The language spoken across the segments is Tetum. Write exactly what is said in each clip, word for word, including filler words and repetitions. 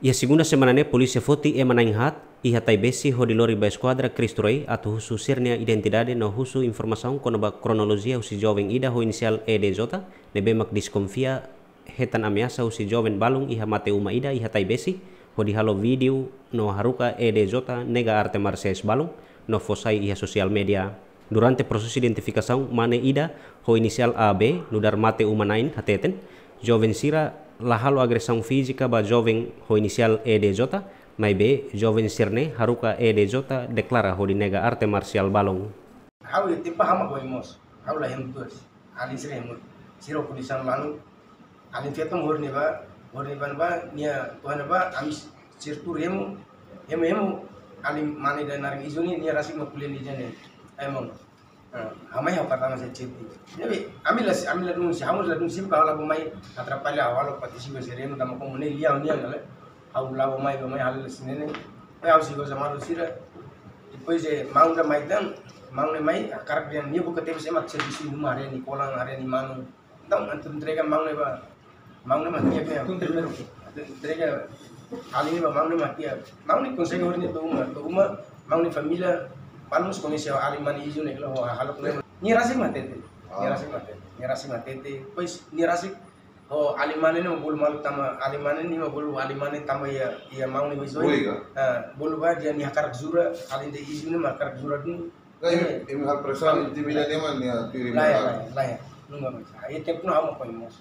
Iha segunda semana ne'e polísia foti ema na'in haat iha Taibesi hodi lori ba eskuadra Cristo Rei atu husu sira-nia identidade no husu informasaun kona-ba kronolojia husi joven ida ho inisiál E D J, ne'ebé mak deskonfia hetan ameasa husi joven balun iha mate uma ida iha Taibesi, hodi halo vídeo no haruka E D J nega arte marsiais balun no fó sai iha sosiál média. Durante prosesu identifikasaun, mane ida ho inisiál A B, nu'udar mate uma na'in hateten, joven sira la halo agresaun fízika ba joven ho inisiál E D J, maibé joven sira-ne'e haruka E D J deklara hodi nega arte marsiál balun. Ha'u iha tempu ha'u mak oin mós. Ha'u la hemu tuas. Alin sira hemu. Sira ho kondisaun lanu. Alin feto hori ne'ebá, hori ne'ebá ne'ebá, nia tuan ne'ebá, ami sira tuur hemu, hemu, hemu, alin mane ida naran Izu ne'e, nia rasik mak ko'alia ida-ne'e. Ai maun. Ah, ha'u mai ha'u pertama sai chat. Ne'ebé, ami la, ami ladún, se ha'u ladún, se ha'u la'o mai, atrapalla ha'u halo partisipa sira hemu, tanba komu ne'e lian, lian, kale. Ha'u la'o mai, la'o mai, halo la sira-ne'e. Ai ha'u sigo sama sira. Depois, eh, maun ida mai tan, maun ne'e mai, hakarak dehan nia buka tebes ema servisu iha uma, haree nia kolan, haree nia manu. Entaun, atu entrega maun ne'e ba, maun ne'e mak tiha. Primeiru. Atu entrega alin ne'e ba maun ne'e mak tiha. Maun ne'e konsege hori nia to'o uma, to'o uma, maun nia família, balun mós koñese alin mane Izu ne'e, kala ho hahalok ne'e. Nia rasik mak hatete. Nia rasik mak hatete. Nia rasik mak hatete. Depois, nia rasik ho alin mane ne'e mak bolu malu tanba, alin mane ne'e mak bolu alin mane tanba iha, iha maun ne'e mak Izu. Bolu ka? Ah, bolu ba dehan nia hakarak jura, alin ida Izu ne'e mak hakarak jura duni. Lae, imi halo presaun, intimida ema nia tuir imi. Lae, lae, lae. Nunga bisa. Ai tempu ne'e ha'u mak oin mós.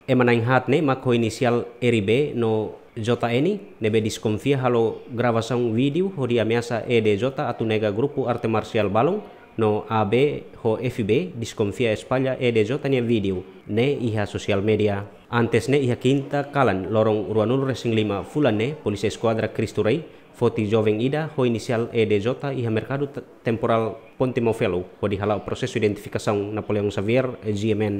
Ema na'in haat ne'e mak ho inisiál R B no J N ne'ebé deskonfia halo gravasaun vídeo hodi ameasa E D J atu nega grupu arte marsiál balun, no A B ho F B deskonfia espalla E D J nia vídeo ne'e iha sosiál média. Antes ne'e iha kinta kalan loron ruanulu-resin-lima fulan ne'e, polísia eskuadra Cristo Rei foti joven ida ho inisiál E D J iha merkadu te-, temporál Ponte Mofelo, hodi hala'o prosesu identifikasaun. Napoleão Xavier, G M N.